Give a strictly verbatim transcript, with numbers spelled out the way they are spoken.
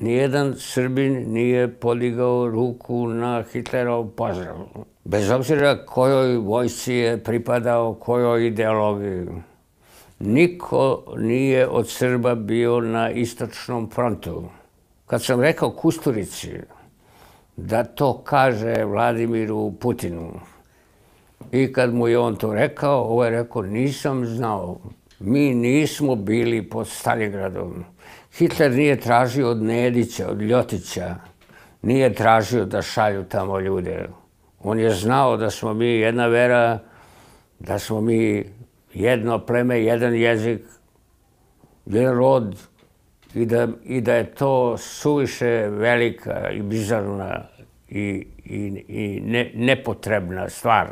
nijedan Srbin nije podigao ruku na Hitlerov pozdrav. Bez obzira kojoj vojsci je pripadao, kojoj ideologiji. Niko nije od Srba bio na istočnom frontu. Kad sam rekao Kusturici da to kaže Vladimiru Putinu i kad mu je on to rekao, ovo je rekao, nisam znao. Mi nismo bili pod Stalingradom. Hitler nije tražio od Nedića, od Ljotića, nije tražio da šalju tamo ljude. On je znao da smo mi jedna vera, da smo mi jedno pleme, jedan jezik, jedan rod i da, i da je to suviše velika i bizarna i, i, i ne, nepotrebna stvar.